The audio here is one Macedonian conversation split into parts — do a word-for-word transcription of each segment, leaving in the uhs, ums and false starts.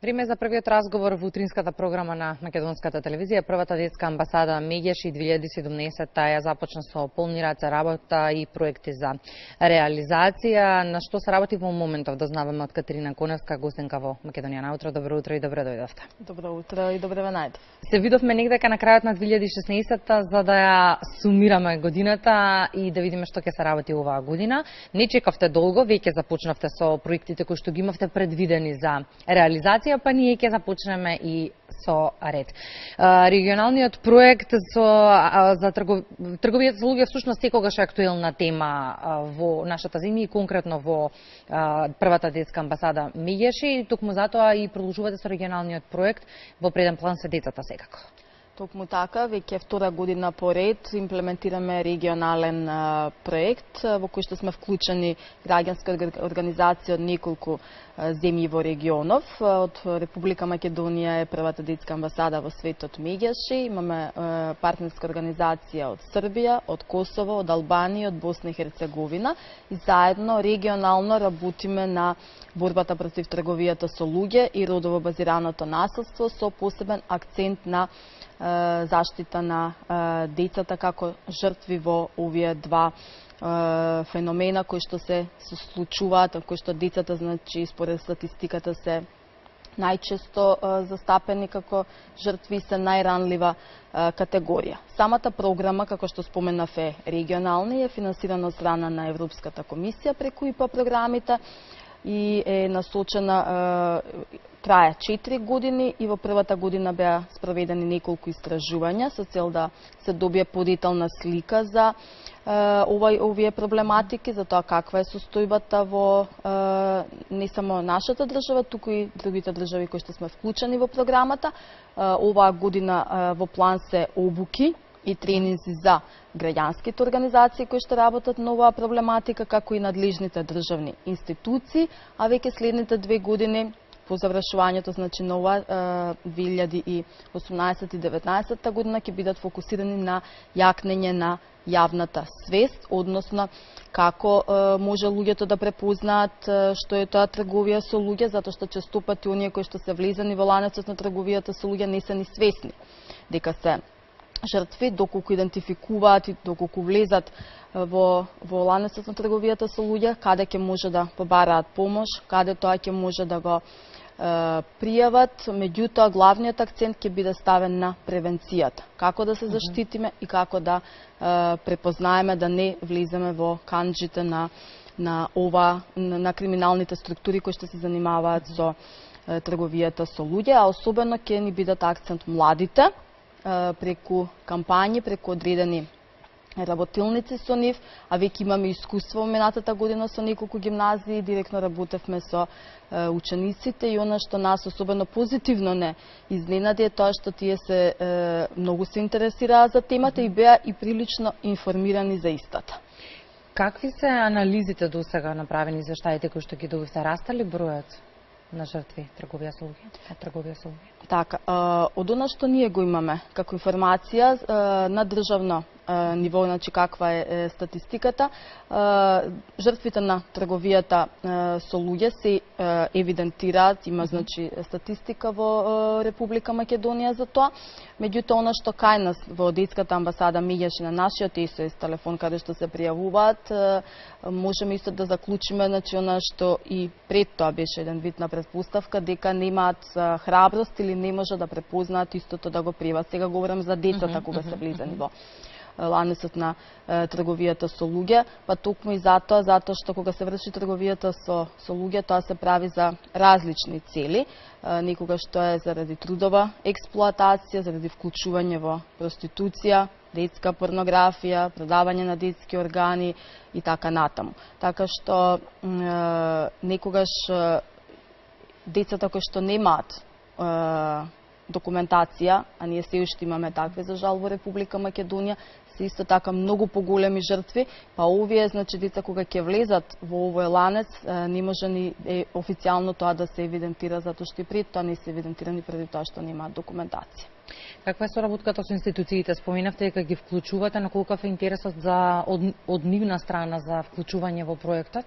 Време за првиот разговор во утринската програма на македонската телевизија. Првата детска амбасада Меѓеш и две илјади и седумнаесетта ја започна со полни раце работа и проекти за реализација. На што се работи во моментов, дознаваме од Катерина Коневска, гостенка во Македонија на утро. Добро утро и добре дојдовте. Добро утро и добре ве најдов. Се видовме негдека на крајот на две илјади и шеснаесетта за да ја сумираме годината и да видиме што ќе се работи оваа година. Не чекавте долго, веќе започнавте со проектите кои што ги имавте предвидени за реализација, па ние ќе започнеме и со ред. Регионалниот проект со, за тргов... трговијата со луѓе всушност секогаш е актуелна тема во нашата земја и конкретно во првата детска амбасада Меѓеш, и токму затоа и продолжувате со регионалниот проект. Во преден план се децата секако. Токму така, веќе втора година поред имплементираме регионален а, проект во кој што сме вклучени граѓански организации од неколку а, земји во регионов. Од Република Македонија е првата детска амбасада во светот Меѓеш. Имаме а, партнерска организација од Србија, од Косово, од Албанија, од Босна и Херцеговина и заедно регионално работиме на борбата против трговијата со луѓе и родово базираното насилство со посебен акцент на заштита на децата како жртви во овие два феномена кои што се случуваат, кои што децата, значи, според статистиката се најчесто застапени како жртви, се најранлива категорија. Самата програма, како што споменав, е регионална и е финансирана од страна на Европската комисија преку ИПА програмите и е насочена, трае четири години и во првата година беа спроведени неколку истражувања со цел да се добие подетална слика за овај овие проблематики, за тоа каква е состојбата во не само нашата држава, туку и другите држави кои што сме вклучени во програмата. Оваа година во план се обуки и тренинзи за граѓанските организации кои што работат на оваа проблематика, како и надлежните државни институции, а веќе следните две години по завршувањето, значи на ова две илјади и осумнаесетта и деветнаесетта година ќе бидат фокусирани на јакнење на јавната свест, односно како е, може луѓето да препознаат што е тоа трговија со луѓе, затоа што често пати оние кои што се влезани во ланецот на трговијата со луѓе не се ни свесни дека се жртви, доколку идентификуваат и доколку влезат во, во ланецот на трговијата со луѓе, каде ќе може да побараат помош, каде тоа ќе може да го е, пријават. Меѓутоа, главниот акцент ќе биде ставен на превенцијата. Како да се заштитиме и како да е, препознаеме да не влеземе во канџите на, на ова, на, на криминалните структури кои што се занимаваат со е, трговијата со луѓе, а особено ќе ни бидат акцент младите, преку кампањи, преку одредени работилници со нив, а веќе имаме искуство во минатата година со неколку гимназии, директно работевме со е, учениците и она што нас особено позитивно не изненади е тоа што тие се е, многу се интересираа за темата и беа и прилично информирани за истата. Какви се анализите до сега направени за штаите кои што ги добивте? Расте ли бројот на жртви трговија со луѓе? Трговија со луѓе? Така, од она што ние го имаме како информација на државно ниво, значи каква е статистиката, жртвите на трговијата со луѓе се евидентираат, има, значи, статистика во Република Македонија за тоа. Меѓутоа, она што кај нас во детската амбасада Меѓеш на нашиот ес о ес телефон каде што се пријавуваат, можеме исто да заклучиме, значи, она што и пред тоа беше еден вид на предпоставка дека немаат храброст или не може да препознаат истото да го пријават. Сега говорам за децата кога се влезани во ланецот на е, трговијата со луѓе, па токму и затоа, затоа што кога се врши трговијата со, со луѓе, тоа се прави за различни цели, е, некогаш тоа е заради трудова експлоатација, заради вклучување во проституција, детска порнографија, продавање на детски органи и така натаму. Така што е, некогаш е, децата кои што немаат е, документација, а ние се уште имаме такви за жал во Република Македонија, се исто така многу поголеми жртви, па овие значи деца кога ќе влезат во овој ланец не може ни е, официјално тоа да се евидентира, затоа што и пред тоа не се евидентирани преди тоа што немаат документација. Каква е соработката со институциите? Споменавте дека ги вклучувате, на колкав е интересот за од, од нивна страна за вклучување во проектот?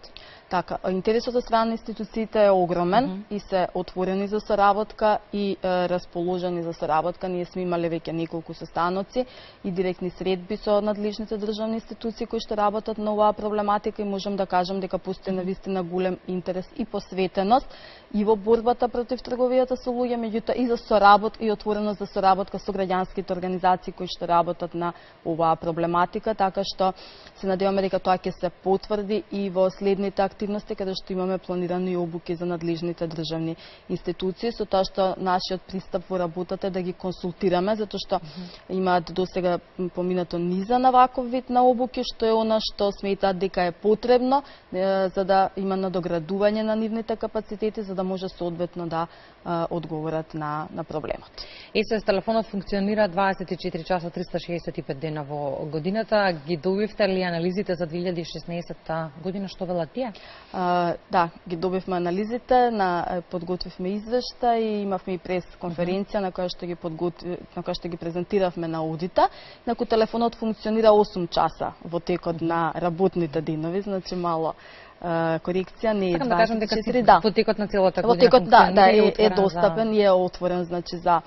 Така, интересот од страна на институциите е огромен mm -hmm. и се отворени за соработка и е, расположени за соработка. Ние сме имале веќе неколку состаноци и директни средби со надлежните државни институции кои што работат на оваа проблематика и можам да кажам дека постои навистина голем интерес и посветеност и во борбата против трговијата со луѓе, меѓутоа и за соработка и отвореност за соработка со граѓанските организации кои што работат на оваа проблематика, така што се надеваме дека тоа ќе се потврди и во следните активности каде што имаме планирани обуки за надлежните државни институции, со тоа што нашиот пристап во работата е да ги консултираме, затоа што mm -hmm. имаат досега поминато низа на ваков вид на обуки, што е она што сметаат дека е потребно е, за да има надоградување на нивните капацитети, за да може соодветно да е, одговорат на, на проблемот. ес ес телефонот функционира дваесет и четири часа триста шеесет и пет дена во годината. Ги добивте ли анализите за две илјади и шеснаесетта година, што велат тие? А, да, ги добивме анализите, на подготвивме извешта и имавме и прес конференција на која што ги подготви, на која што ги презентиравме на аудита. Наку телефонот функционира осум часа во текот на работните денови, значи мало Uh, корекција не е дваесет и четири, да. Во текот на целата година во текот, да, да, е, е, е достапен и е отворен значи за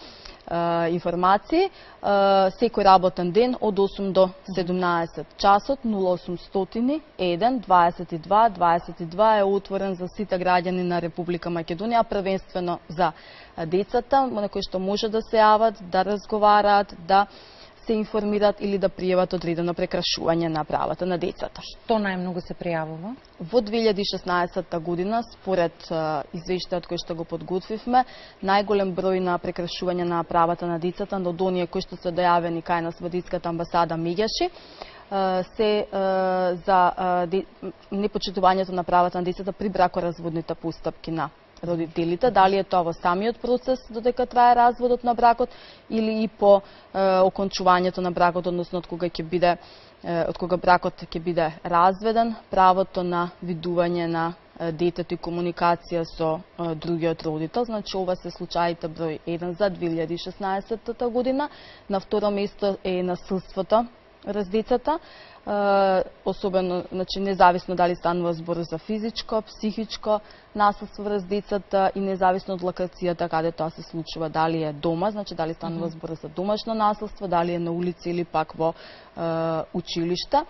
uh, информации. Uh, секој работен ден од осум до седумнаесет часот нула осумстотини еден дваесет и два дваесет и два е отворен за сите граѓани на Република Македонија, првенствено за децата, на кои што може да се јават, да разговараат, да се информираат или да пријават одредено прекрашување на правата на децата. Што најмногу се пријавува? Во две илјади и шеснаесетта година, според извештајот кој што го подготвивме, најголем број на прекрашување на правата на децата од оние кои што се дојавени кај нас во детската амбасада Меѓаши се за непочитувањето на правата на децата при бракоразводните постапки на родителите, дали е тоа во самиот процес додека трае разводот на бракот или и по е, окончувањето на бракот, односно од кога ќе биде е, од кога бракот ќе биде разведен, правото на видување на е, детето и комуникација со е, другиот родител. Значи ова се случаите број еден за две илјади и шеснаесетта година. На второ место е насилството врз децата. Uh, особено, значи, независно дали станува збор за физичко, психичко насилство врз децата и независно од локацијата каде тоа се случува, дали е дома, значи дали станува збор за домашно насилство, дали е на улица или пак во uh, училишта.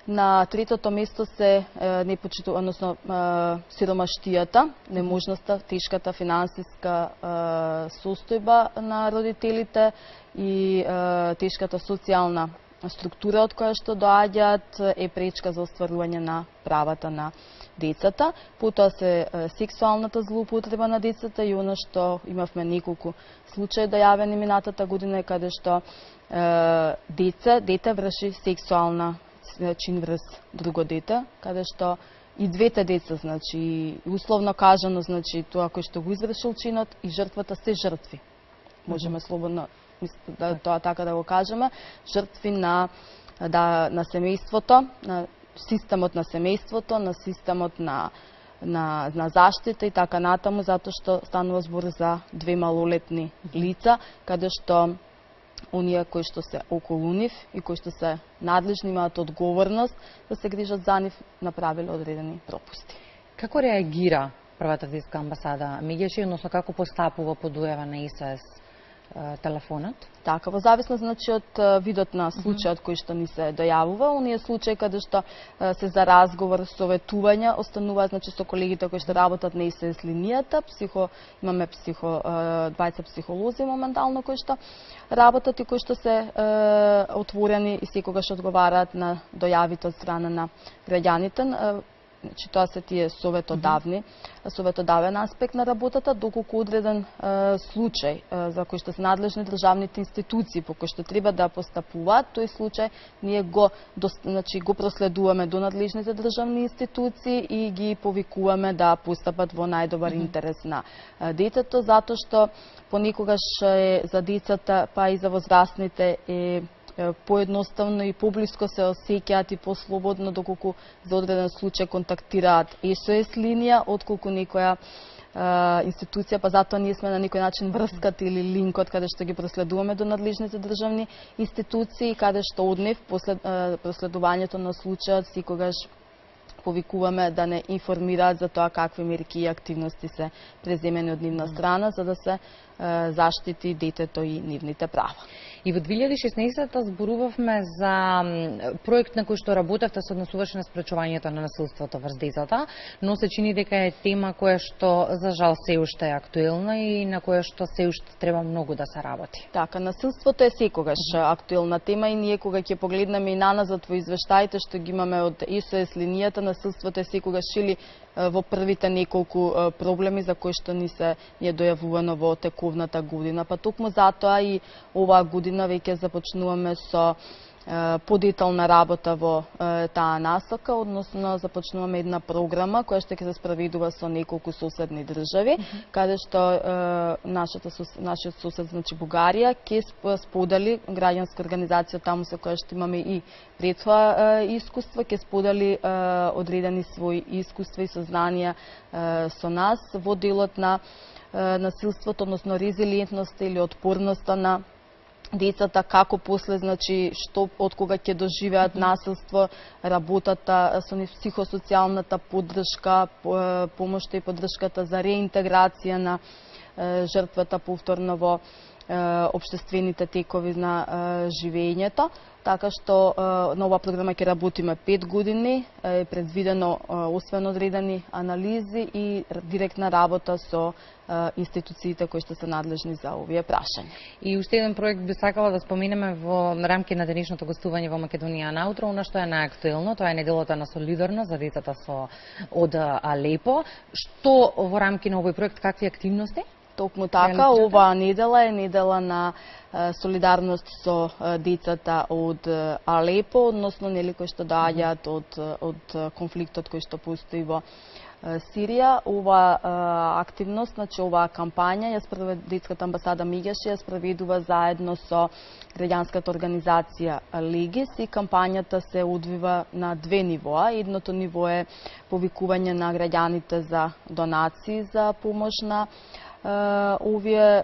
На третото место се uh, непочиту, односно uh, сиромаштијата, неможноста, тешката финансиска uh, состојба на родителите и uh, тешката социјална структура од која што доаѓаат е пречка за остварување на правата на децата. Потоа се сексуалната злоупотреба на децата и она што имавме неколку случаи дојавени минатата година каде што е, деца, дете врши сексуална чин врз друго дете, каде што и двете деца, значи условно кажано, значи тоа кој што го извршил чинот и жртвата се жртви. Можеме слободно да тоа така да го кажеме, жртви на да на семејството, на системот на семејството, на системот на на на заштита и така натаму, затоа што станува збор за две малолетни лица, каде што оние кои што се околу нив и кои што се надлежни имаат одговорност да се грижат за нив, направиле одредени пропусти. Како реагира првата детска амбасада Меѓаши, односно како постапува по дојава на ес ес телефонот? Така, во зависност значи од видот на случајот кој што ни се дојавува, оние случаи каде што се за разговор, советување, остануваат значи со колегите кои што работат на ес ес линијата, психо имаме психо двајца психолози моментално кои што работат и кои што се е, отворени и секогаш одговараат на дојавите од страна на граѓаните. Значи, тоа се тие советодавни, mm -hmm. советодавен аспект на работата, доколку одреден е, случај е, за кој што се надлежни државните институции по кој што треба да постапуваат, тој случај ние го, до, значи, го проследуваме до надлежните државни институции и ги повикуваме да постапат во најдобар mm -hmm. интерес на е, детето, затоа што понекогаш е за децата, па и за возрастните е поедноставно и поблиско се осеќаат и послободно, доколку за одреден случај контактираат ес о ес линија, отколку некоја институција, па затоа ние сме на некој начин врскат или линкот каде што ги проследуваме до надлежните државни институции, каде што од нив после проследувањето на случајот секогаш повикуваме да не информираат за тоа какви мерки и активности се преземени од нивна страна, за да се заштити детето и нивните права. И во две илјади и шеснаесетта зборувавме за проект на кој што работевте, се однесуваше на спречувањето на насилството врз децата, но се чини дека е тема која што за жал се уште е актуелна и на која што се уште треба многу да се работи. Така, насилството е секогаш актуелна тема и ние кога ќе погледнеме и наназад во извештаите што ги имаме од ес о ес линијата, насилството е секогаш или во првите неколку проблеми за кои што ни се ни е дојавувано во тековната година. Па токму затоа и оваа година веќе започнуваме со подетална работа во таа насока, односно започнуваме една програма која што ќе се спроведува со неколку соседни држави, mm -hmm. каде што нашата нашиот сосед, значи Бугарија, ќе сподели граѓанска организација таму со која што имаме и пред тоа искуство, ќе сподели одредени своји искуства и сознанија со нас во делот на насилството, односно резилиентноста или отпорноста на децата, како после, значи, што, од кога ќе доживеат насилство, работата со нив, психосоцијалната поддршка, помошта и поддршката за реинтеграција на жртвата повторно во општествените текови на живењето. Така што на оваа програма ќе работиме пет години, е предвидено освен одредени анализи и директна работа со институциите кои што се надлежни за овие прашања. И уште еден проект би сакала да споменеме во рамки на денешното гостување во Македонија на утро, она што е најактуелно, тоа е неделата на солидарност за децата со од Алепо. Што во рамки на овој проект, какви активности? Токму така, оваа недела е недела на солидарност со децата од Алепо, односно нели кои што доаѓаат од од конфликтот кој што постои во Сирија. Ова активност, значи оваа кампања, ја спроведува детската амбасада Мигеше, ја спроведува заедно со граѓанската организација Легис и кампањата се одвива на две нивоа. Едното ниво е повикување на граѓаните за донации за помош на овие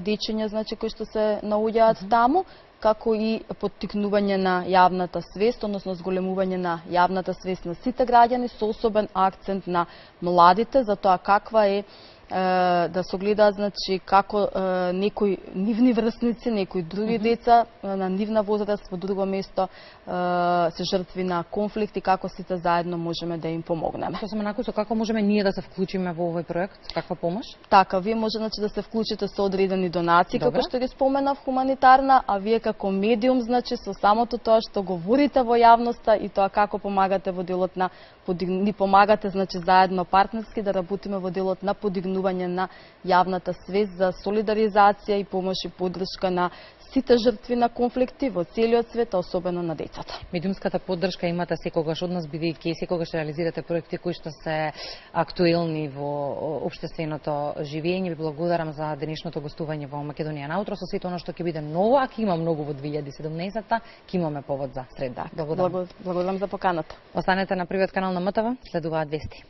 дечиња, значи, кои што се наоѓаат mm -hmm. таму, како и поттикнување на јавната свест, односно зголемување на јавната свест на сите граѓани, со особен акцент на младите, за тоа каква е да се гледаат, значи, како некои нивни врсници, некои други mm -hmm. деца на нивна возраст во друго место се жртви на конфликти, како сите заедно можеме да им помогнеме. Што сме накусо, како можеме ние да се вклучиме во овој проект? Каква помош? Така, вие може, значи, да се вклучите со одредени донации, како што ги споменав, хуманитарна, а вие како медиум, значи, со самото тоа што говорите во јавноста и тоа како помагате во делот на ни помагате, значи, заедно партнерски да работиме во делот на подигнување на јавната свест за солидаризација и помош и поддршка на сите жртви на конфликти во целиот свет, а особено на децата. Медиумската поддршка имате секогаш од нас, бидејќи секогаш реализирате проекти кои што се актуелни во општественото живење. Ви благодарам за денешното гостување во Македонија на утро, со сето оно што ќе биде ново, а ќе има многу во две илјади и седумнаесетта, ќе имаме повод за среда. Благодарам. Благодарам за поканата. Останете на првиот канал на МТВ, следуваат вести.